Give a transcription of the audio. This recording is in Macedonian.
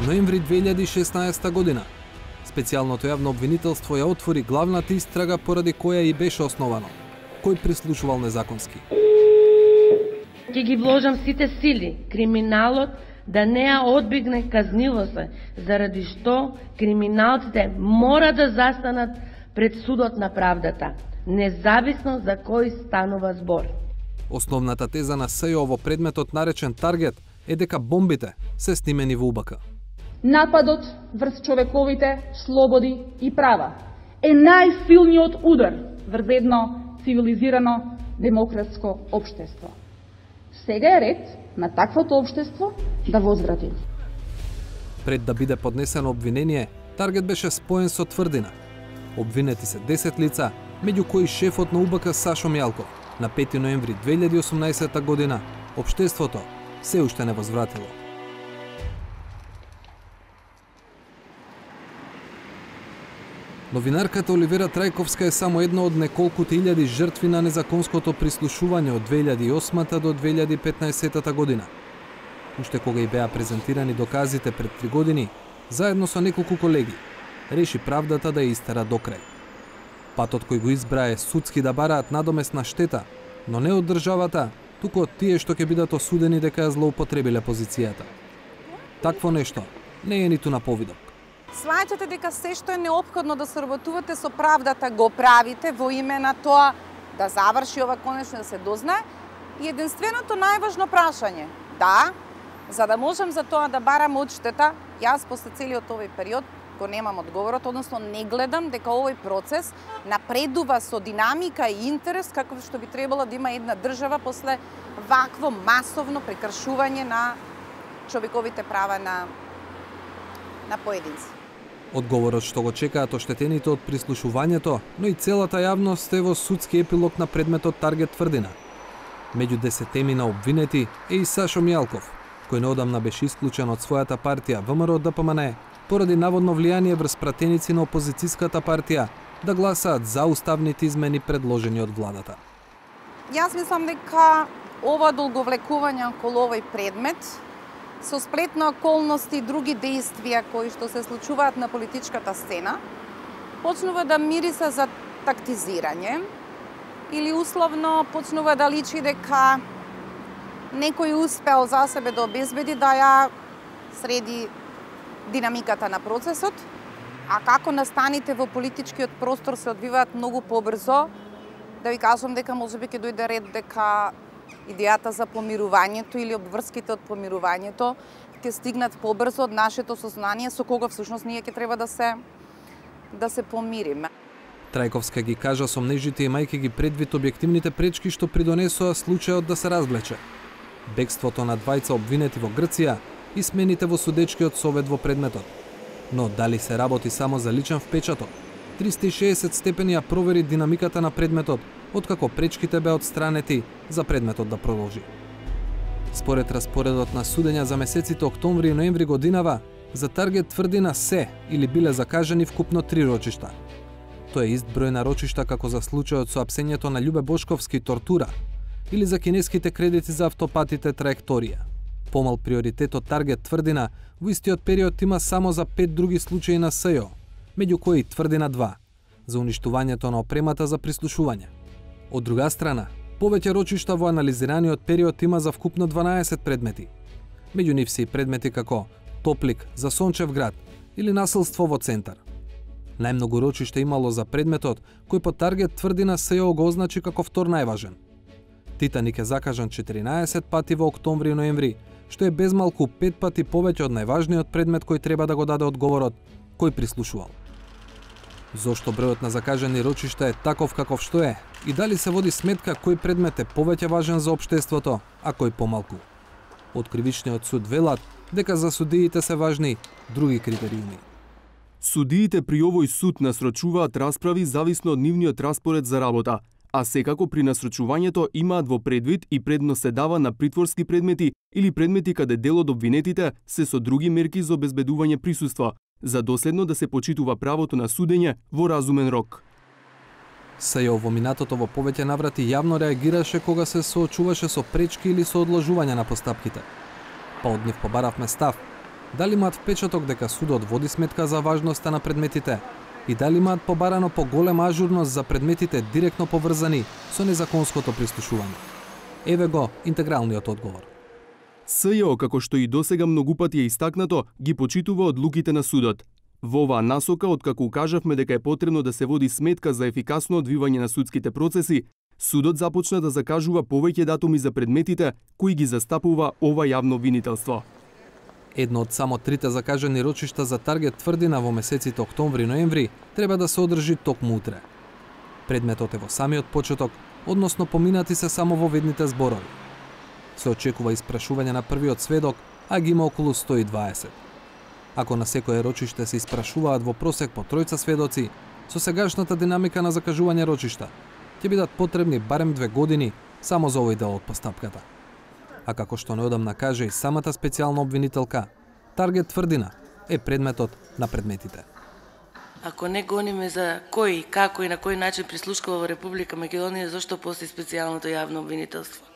Ноември 2016 година. Специјалното јавно обвинителство ја отвори главната истрага поради која и беше основано. Кој прислушувал незаконски. Ќе ги вложам сите сили криминалот да не ја одбегне казнивост, заради што криминалците мора да застанат пред судот на правдата, независно за кој станува збор. Основната теза на СЈО во предметот наречен Таргет е дека бомбите се снимени во УБК. Нападот врз човековите слободи и права е најсилниот удар врз едно цивилизирано демократско општество. Сега е ред на таквото општество да возврати. Пред да биде поднесено обвинение, Таргет беше споен со тврдина. Обвинети се 10 лица, меѓу кои шефот на УБК Сашо Мјалков. На 5 ноември 2018 година, општеството се уште не возвратило. Новинарката Оливера Трајковска е само една од неколкуте илјади жртви на незаконското прислушување од 2008 до 2015 година. Уште кога и беа презентирани доказите пред 3 години, заедно со неколку колеги, реши правдата да ја истера до крај. Патот кој го избра е судски да бараат надомесна штета, но не од државата, туку од тие што ќе бидат осудени дека ја злоупотребиле позицијата. Такво нешто не е ниту на повидок. Сваќате дека се што е неопходно да соработувате со правдата го правите во име на тоа да заврши ова конечно да се дознае. И единственото најважно прашање, да, за да можем за тоа да барам одштета, јас после целиот овој период го немам одговорот, односно не гледам дека овој процес напредува со динамика и интерес каков што би требало да има една држава после вакво масовно прекршување на човековите права на поединци. Одговорот што го чекаат оштетените од прислушувањето, но и целата јавност е во судски епилог на предметот Таргет тврдина. Меѓу 10 обвинети е и Сашо Мјалков, кој неодамна беше исклучен од својата партија ВМРО-ДПМН поради наводно влијание врз пратеници на опозицијската партија да гласаат за уставните измени предложени од владата. Јас мислам дека ова долговлекување околу овој предмет со сплет на околности и други действија кои што се случуваат на политичката сцена, почнува да мириса за тактизирање или условно почнува да личи дека некој успел за себе да обезбеди да ја среди динамиката на процесот, а како настаните во политичкиот простор се одвиваат многу побрзо, да ви кажам дека можеби ќе дојде ред дека идејата за помирувањето или обврските од помирувањето ќе стигнат побрзо од нашето сознание со кога всушност ние ќе треба да се помириме. Трајковска ги кажа сомнежите имајќи ги предвид објективните пречки што придонесоа случајот да се развлече. Бегството на двајца обвинети во Грција и смените во судечкиот совет во предметот. Но дали се работи само за личен впечаток? 360 степени ја провери динамиката на предметот, откако пречките беа отстранети за предметот да продолжи. Според распоредот на судења за месеците октомври и ноември годинава, за Таргет тврдина се или биле закажани вкупно 3 рочишта. Тоа е ист број на рочишта како за случајот со апсењето на Љубе Бошковски тортура или за кинеските кредити за автопатите траекторија. Помал приоритет од Таргет тврдина во истиот период има само за 5 други случаи на СЈО, меѓу кои тврдина 2 за уништувањето на опремата за прислушување. Од друга страна, повеќе рочишта во анализираниот период има за вкупно 12 предмети. Меѓу нив се и предмети како Топлик за Сончев град или насилство во Центар. Најмногу рочишта имало за предметот кој по Таргет тврдина СЈО го означи како втор најважен. Титаник е закажан 14 пати во октомври и ноември, што е безмалку 5 пати повеќе од најважниот предмет кој треба да го даде одговорот кој прислушувал. Зошто бројот на закажани рочишта е таков каков што е и дали се води сметка кој предмет е повеќе важен за општеството, а кој помалку? Од кривичниот суд велат дека за судиите се важни други критериуми. Судиите при овој суд насрочуваат расправи зависно од нивниот распоред за работа, а секако при насрочувањето имаат во предвид и предност се дава на притворски предмети или предмети каде дел од обвинетите се со други мерки за обезбедување присуство, за доследно да се почитува правото на судење во разумен рок. СЈО во минатото во повеќе наврати јавно реагираше кога се соочуваше со пречки или со одложување на постапките. Па од нив побаравме став дали имаат впечаток дека судот води сметка за важноста на предметите и дали имаат побарано поголема ажурност за предметите директно поврзани со незаконското прислушување. Еве го интегралниот одговор. СЈО, како што и досега многу пати е истакнато, ги почитува одлуките на судот. Во оваа насока, откако укажавме дека е потребно да се води сметка за ефикасно одвивање на судските процеси, судот започна да закажува повеќе датуми за предметите кои ги застапува ова јавно обвинителство. Едно од само 3 закажани рочишта за Таргет Тврдина во месеците октомври-ноември треба да се одржи токму утре. Предметот е во самиот почеток, односно поминати се само во ведните зборови. Се очекува испрашување на првиот сведок, а ги има околу 120. Ако на секое рочиште се испрашуваат во просек по 3 сведоци, со сегашната динамика на закажување рочишта, ќе бидат потребни барем 2 години само за овој дел од постапката. А како што неодамна каже и самата специјална обвинителка, Таргет Тврдина е предметот на предметите. Ако не гониме за кој, како и на кој начин прислушкува во Република Македонија, зашто постои специјалното јавно обвинителство?